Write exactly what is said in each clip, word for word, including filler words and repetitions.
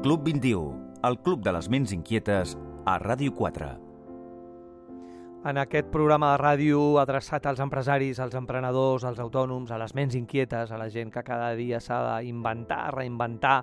Club vint-i-u, el Club de les Ments Inquietes, a Ràdio quatre. En aquest programa de ràdio adreçat als empresaris, als emprenedors, als autònoms, a les ments inquietes, a la gent que cada dia s'ha d'inventar, reinventar,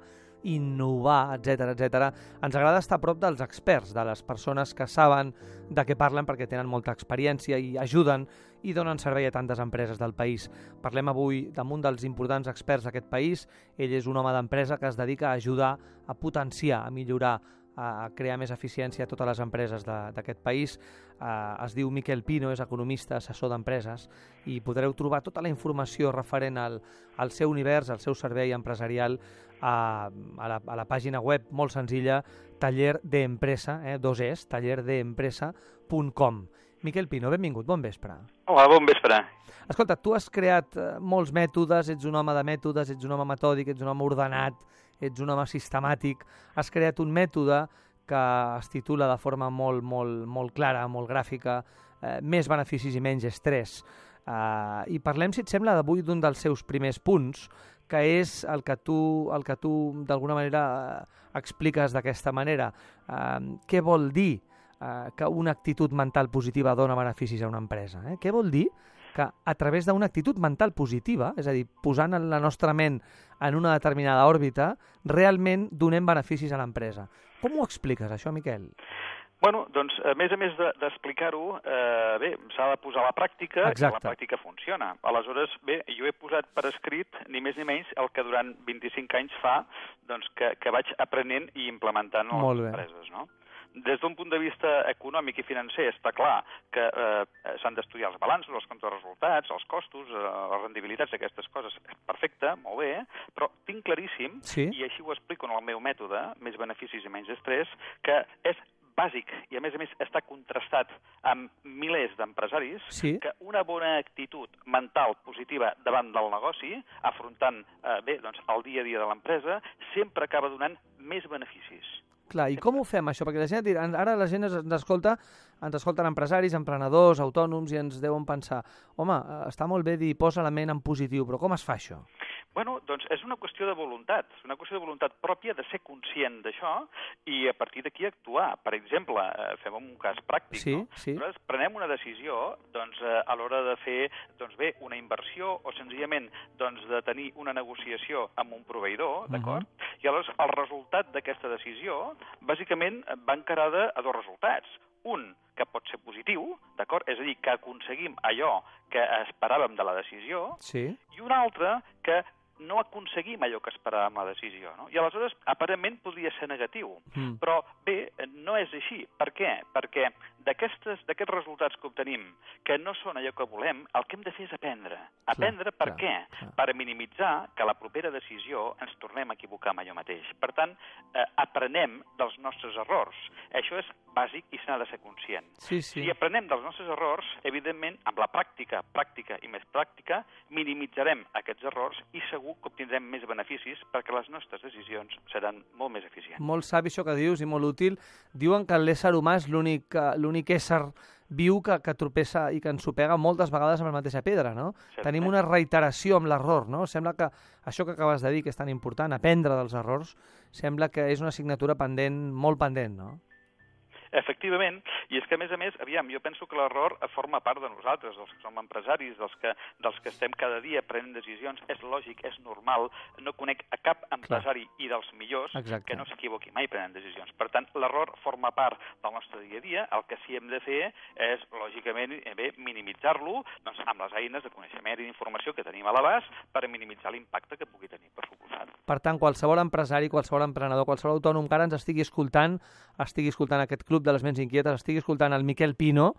innovar, etcètera, etcètera, ens agrada estar a prop dels experts, de les persones que saben de què parlen perquè tenen molta experiència i ajuden i donen servei a tantes empreses del país. Parlem avui d'un dels importants experts d'aquest país. Ell és un home d'empresa que es dedica a ajudar a potenciar, a millorar, a crear més eficiència a totes les empreses d'aquest país. Uh, es diu Miquel Pino, és economista, assessor d'empreses, i podreu trobar tota la informació referent al, al seu univers, al seu servei empresarial a, a, la, a la pàgina web molt senzilla, taller de empresa, eh, dos es, taller de empresa punt com. Miquel Pino, benvingut, bon vespre. Hola, bon vespre. Escolta, tu has creat uh, molts mètodes, ets un home de mètodes, ets un home metòdic, ets un home ordenat, ets un home sistemàtic, has creat un mètode que es titula de forma molt, molt, molt clara, molt gràfica, eh, més beneficis i menys estrès. Eh, I parlem, si et sembla, d'avui d'un dels seus primers punts, que és el que tu, el que tu d'alguna manera eh, expliques d'aquesta manera. Eh, què vol dir eh, que una actitud mental positiva dona beneficis a una empresa? Eh? Què vol dir que a través d'una actitud mental positiva, és a dir, posant la nostra ment en una determinada òrbita, realment donem beneficis a l'empresa? Com ho expliques, això, Miquel? Bueno, doncs, a més a més d'explicar-ho, de, eh, bé, s'ha de posar a la pràctica. Exacte. I la pràctica funciona. Aleshores, bé, jo he posat per escrit, ni més ni menys, el que durant vint-i-cinc anys fa doncs, que, que vaig aprenent i implementant a les empreses, no? Des d'un punt de vista econòmic i financer està clar que eh, s'han d'estudiar els balanços, els comptes de resultats, els costos, eh, les rendibilitats, aquestes coses. Perfecte, molt bé, però tinc claríssim, sí? I així ho explico en el meu mètode, més beneficis i menys estrès, que és bàsic i, a més a més, està contrastat amb milers d'empresaris, sí? Que una bona actitud mental positiva davant del negoci, afrontant eh, bé, doncs, el dia a dia de l'empresa, sempre acaba donant més beneficis. Clar, i com ho fem, això? Perquè la gent, ara la gent ens escolta, ens escolten empresaris, emprenedors, autònoms, i ens deuen pensar, home, està molt bé dir posa la ment en positiu, però com es fa això? Bueno, doncs és una qüestió de voluntat, una qüestió de voluntat pròpia, de ser conscient d'això i a partir d'aquí actuar. Per exemple, fem un cas pràctic, sí, no? Sí. Nosaltres prenem una decisió doncs, a l'hora de fer doncs, bé, una inversió o senzillament doncs, de tenir una negociació amb un proveïdor, d'acord? Uh-huh. I aleshores el resultat d'aquesta decisió bàsicament va encarada a dos resultats. Un, que pot ser positiu, d'acord? És a dir, que aconseguim allò que esperàvem de la decisió, sí. I un altre, que no aconseguim allò que esperàvem la decisió, no? I aleshores, aparentment, podria ser negatiu. Mm. Però, bé, no és així. Per què? Perquè d'aquests resultats que obtenim, que no són allò que volem, el que hem de fer és aprendre. Aprendre clar, per clar, què? Clar. Per minimitzar que a la propera decisió ens tornem a equivocar amb allò mateix. Per tant, eh, aprenem dels nostres errors. Això és bàsic i se n'ha de ser conscient. Sí, sí. Si aprenem dels nostres errors, evidentment, amb la pràctica, pràctica i més pràctica, minimitzarem aquests errors i segur que obtindrem més beneficis perquè les nostres decisions seran molt més eficients. Molt savi això que dius i molt útil. Diuen que l'ésser humà és l'únic l'únic ésser viu que, que tropessa i que ens sopega moltes vegades amb la mateixa pedra, no? Certament. Tenim una reiteració amb l'error, no? Sembla que això que acabes de dir, que és tan important, aprendre dels errors, sembla que és una assignatura pendent, molt pendent, no? Efectivament, i és que, a més a més, aviam, jo penso que l'error forma part de nosaltres, dels que som empresaris, dels que, dels que estem cada dia prenent decisions. És lògic, és normal. No conec a cap empresari Clar. I dels millors Exacte. Que no s'equivoqui mai prenent decisions. Per tant, l'error forma part del nostre dia a dia. El que sí hem de fer és, lògicament, bé, minimitzar-lo doncs, amb les eines de coneixement i d'informació que tenim a l'abast per minimitzar l'impacte que pugui tenir, per suposat. Per tant, qualsevol empresari, qualsevol emprenedor, qualsevol autònom que ara ens estigui escoltant, estigui escoltant aquest club de les ments inquietes, estigui escoltant el Miquel Pino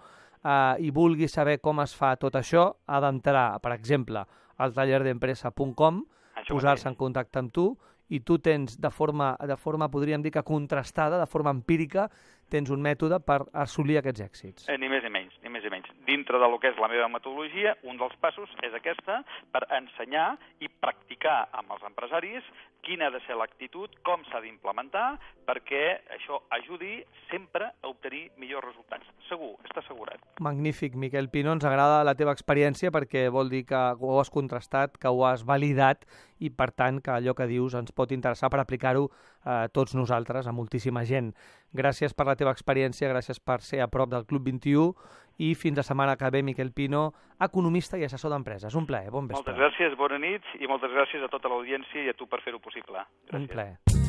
eh, i vulgui saber com es fa tot això, ha d'entrar, per exemple, al taller d'empresa punt com, posar-se en contacte amb tu, i tu tens de forma, de forma, podríem dir que contrastada, de forma empírica, tens un mètode per assolir aquests èxits. Eh, ni més ni menys, ni més ni menys. Dintre del que és la meva metodologia, un dels passos és aquesta, per ensenyar i practicar amb els empresaris quina ha de ser l'actitud, com s'ha d'implementar, perquè això ajudi sempre a obtenir millors resultats. Segur, està assegurat. Magnífic, Miquel Pino, ens agrada la teva experiència perquè vol dir que ho has contrastat, que ho has validat i, per tant, que allò que dius ens pot interessar per aplicar-ho a tots nosaltres, a moltíssima gent. Gràcies per la teva experiència, gràcies per ser a prop del Club vint i u i fins la setmana que ve, Miquel Pino, economista i assessor d'empreses. Un plaer, bon vespre. Moltes gràcies, bona nit i moltes gràcies a tota l'audiència i a tu per fer-ho possible. Gràcies. Un plaer.